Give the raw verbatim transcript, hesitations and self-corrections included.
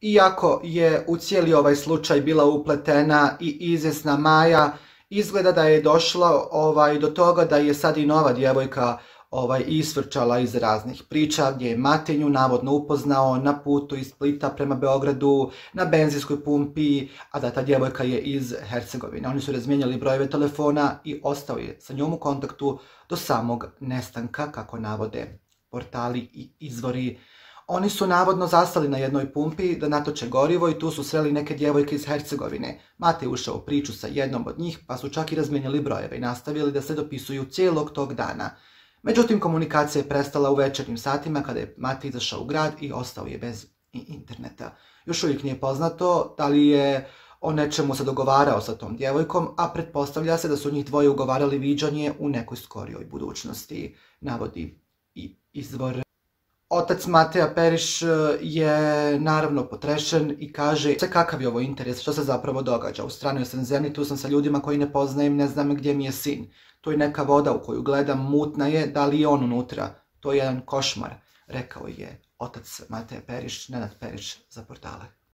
Iako je u cijeli ovaj slučaj bila upletena i izvjesna Maja, izgleda da je došlo ovaj, do toga da je sad i nova djevojka ovaj, isvrčala iz raznih priča gdje je Matinju navodno upoznao na putu iz Splita prema Beogradu na benzinskoj pumpi, a da ta djevojka je iz Hercegovine. Oni su razmijenjali brojeve telefona i ostao je sa njom u kontaktu do samog nestanka, kako navode portali i izvori. Oni su navodno zastali na jednoj pumpi da natoče gorivo i tu su sreli neke djevojke iz Hercegovine. Mate je ušao u priču sa jednom od njih, pa su čak i razmijenjali brojeve i nastavili da se dopisuju cijelog tog dana. Međutim, komunikacija je prestala u večernjim satima kada je Mate izašao u grad i ostao je bez interneta. Još uvijek nije poznato da li je o nečemu se dogovarao sa tom djevojkom, a pretpostavlja se da su njih dvoje ugovarali viđanje u nekoj skorijoj budućnosti, navodi i izvor. Otac Mateja Periš je naravno potrešen i kaže sve kakav je ovo interes, što se zapravo događa. U stranoj sam zemlji, tu sam sa ljudima koji ne poznajem, ne znam gdje mi je sin. To je neka voda u koju gledam, mutna je, da li je on unutra. To je jedan košmar, rekao je otac Mateja Periš, Nenad Periš za portale.